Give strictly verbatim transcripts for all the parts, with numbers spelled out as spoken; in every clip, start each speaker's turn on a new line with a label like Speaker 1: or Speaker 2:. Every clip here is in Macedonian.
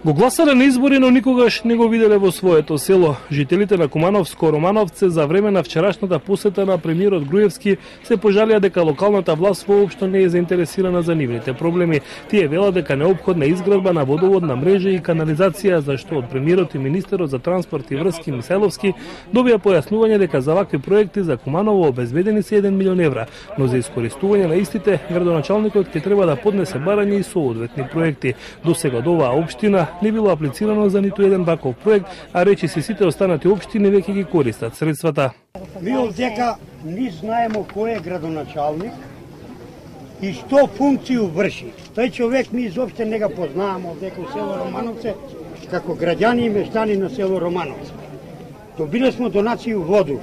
Speaker 1: Го гласале на избори, но никогаш не го виделе во своето село. Жителите на Кумановско Романовце за време на вчерашната посета на премиерот Груевски се пожалија дека локалната власт воопшто не е заинтересирана за нивните проблеми. Тие велат дека неопходна изградба на водоводна мрежа и канализација, зашто од премиерот и министерот за транспорт и врски Михајловски добија појаснување дека за вакви проекти за Куманово обезбедени се еден милион евра, но за искористување на истите градоначалникот ќе треба да поднесе барање и соодветни проекти. До сега од оваа општина не било аплицирано за ниту еден ваков проект, а речи се сите останати општини веќе ги користат средствата.
Speaker 2: Ми овдека ни знаемо кој е градоначалник и што функцију врши. Тој човек ми изопште не го познавам овдека у село Романовце, како граѓани и мештани на село Романовце. Добиле смо донацију воду.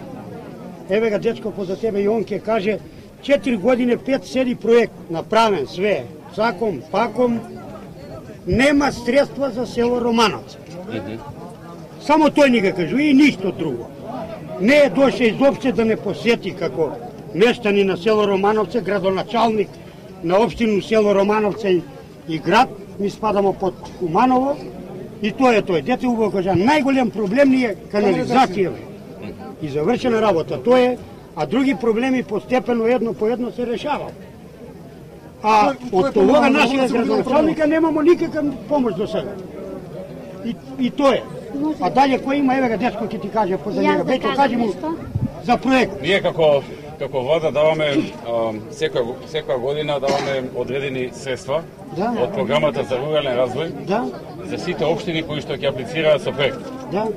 Speaker 2: Еве га дечко поза тебе и он ќе каже, четири години пет седи проект направен све, саком, паком, нема средства за село Романовце. Само тој ни го кажува и ништо друго. Не е доше изопште да не посети како мештани на село Романовце, градоначалник на општину село Романовце и град, ми спадамо под Куманово, и тоа е тој. Дете убаво кажа, најголем проблем ни е канализација и завршена работа. Тоа е, а други проблеми постепено едно по едно се решаваат. А од тоа нашиот градоначалника немамо никаква помош до сега. И, и тоа е. А далje кој има, еве га дечко ќе ти каже поза него. Бејто, кажи му за проект.
Speaker 3: Ние како како влада даваме секоја секоја година даваме одредени средства
Speaker 2: да,
Speaker 3: од програмата за рурален развој
Speaker 2: да,
Speaker 3: за сите општини кои што ќе аплицираат со проект.
Speaker 2: Да.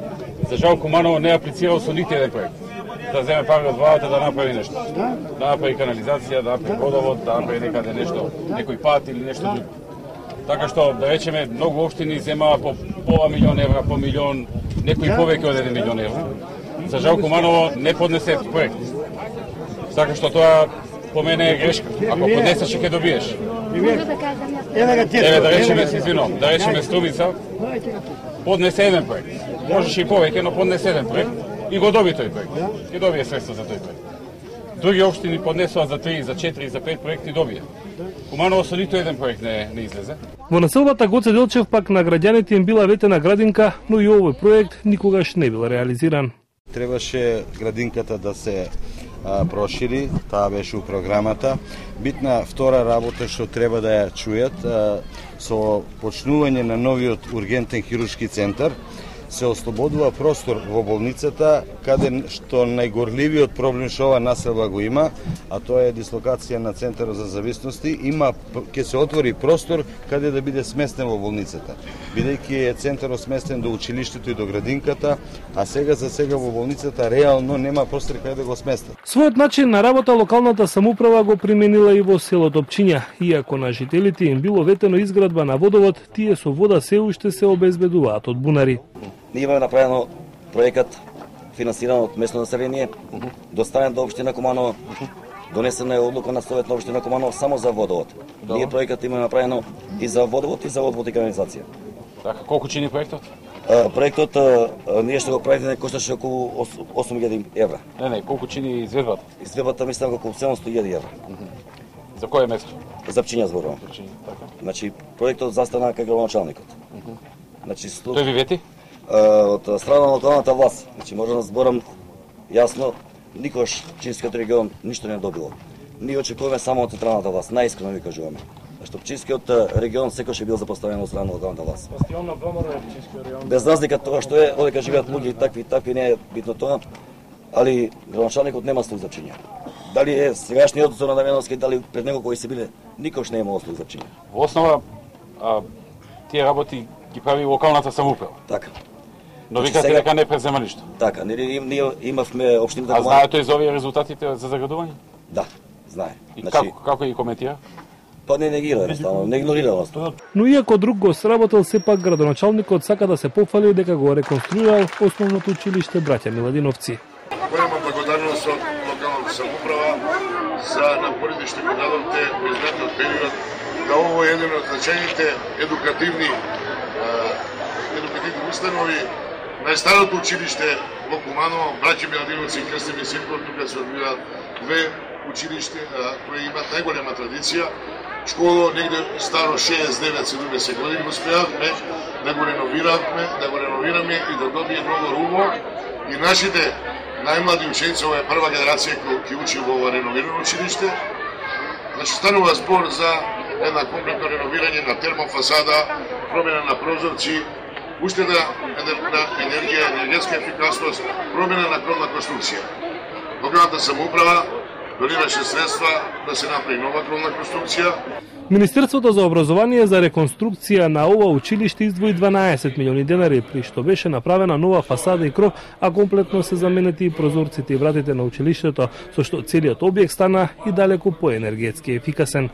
Speaker 3: За жал Куманово не аплицирал со ниту еден проект. Да земе пари од владата да направи нешто.
Speaker 2: Да,
Speaker 3: да направи канализација, да направи водовод, да направи некаде нешто, некој пат или нешто друго. Така што, да речеме, многу општини земаа по пола милион евра, по милион, некои повеќе од еден милион евра. За жал Куманово не поднесе проект. Така што тоа по мене е грешка. Ако поднесеш ќе добиеш. Еве да речеме, се извинувам, да речеме Струмица поднесе еден проект. Можеше и повеќе, но поднесе еден проект и го доби тој проект. Ќе добие средства за тој проект. Други општини поднесоа за три, за четири, за пет проекти добија. Куманово со ниту еден проект не, не излезе.
Speaker 1: Во населбата Гоце Делчев пак на граѓаните им била ветена градинка, но и овој проект никогаш не бил реализиран.
Speaker 4: Требаше градинката да се а, прошири, таа беше у програмата. Битна втора работа што треба да ја чујат, а, со почнување на новиот ургентен хируршки центар, се ослободува простор во болницата, каде што најгорливиот проблем што ова населба го има, а тоа е дислокација на центарот за зависности, има ќе се отвори простор каде да биде сместен во болницата. Бидејќи е центарот сместен до училиштето и до градинката, а сега за сега во болницата реално нема простор каде да го сместат.
Speaker 1: Својот начин на работа локалната самоуправа го применила и во селото Опчиња, иако на жителите им било ветено изградба на водовод, тие со вода се уште се обезбедуваат од бунари.
Speaker 5: Ние имаме направено проекат финансиран од местно население, доставен до општина Куманово, донесена е одлука на Совет на општина Куманово само за водовод. Да. Ние проекат имаме направено и за водовод и за одвод и канализација.
Speaker 3: Така, колку чини проектот?
Speaker 5: А, проектот а, ние што го правиме кошташе околу осум илјади евра.
Speaker 3: Не, не, колку чини изведбата?
Speaker 5: Изведбата мислам околу седумстотини илјади евра.
Speaker 3: За кое место?
Speaker 5: За Пчиња зборувам.
Speaker 3: Така.
Speaker 5: Значи проектот застана кај градоначалникот. Значи
Speaker 3: Тој ви вети?
Speaker 5: Од страна на локалната власт. Значи можам да зборам јасно, никогаш Пчинскиот регион ништо не добило. Ние очекуваме само од централната власт, најискрено ви кажуваме. Зашто Пчинскиот регион секогаш е бил запоставен од страна на локалната власт.
Speaker 3: Бастион на ВМРО е Пчинскиот регион.
Speaker 5: Без разлика тоа што е, одека живеат луѓе такви такви не е битно тоа, али градоначалникот нема слух за Пчиња. Дали е сегашниот Зоран Дамјановски, дали пред него кои се биле, никогаш не имало слух за Пчиња.
Speaker 3: Во основа а, тие работи ги прави локалната самоуправа.
Speaker 5: Така.
Speaker 3: Но викате дека не презема ништо.
Speaker 5: Така, ние, ние имавме општината.
Speaker 3: А знаете за овие резултатите за заградување?
Speaker 5: Да, знае.
Speaker 3: И значи, како како ги коментира?
Speaker 5: Па не негира, едноставно, не игнорира нас тоа.
Speaker 1: Но иако друг го сработил, сепак градоначалникот сака да се пофали дека го реконструирал основното училиште Браќа Миладиновци.
Speaker 6: Голема благодарност од локалната самоуправа за напорите што го дадовте во изминатиот период, да ово е еден од значајните едукативни едукативни установи. Најстарото училиште во Куманово, Браќа Миладиновци и Крстени Синков, тука се одвиваат две училиште кои имаат најголема традиција. школо негде старо шеесет девет седумдесет години го успеавме да го реновиравме, да го реновираме и да добие многу рубо и нашите најмлади ученици, ова е прва генерација која ќе учи во ова реновирано училиште. Значи станува збор за една комплетно реновирање на термофасада, промена на прозорци, уштеда на енергија, енергетска ефикасност, промена на кровна конструкција. Локалната самоуправа доливаше средства да се направи нова кровна конструкција.
Speaker 1: Министерството за образование за реконструкција на ова училиште издвои дванаесет милиони денари, при што беше направена нова фасада и кров, а комплетно се заменети и прозорците и вратите на училиштето, со што целиот објект стана и далеку поенергетски ефикасен.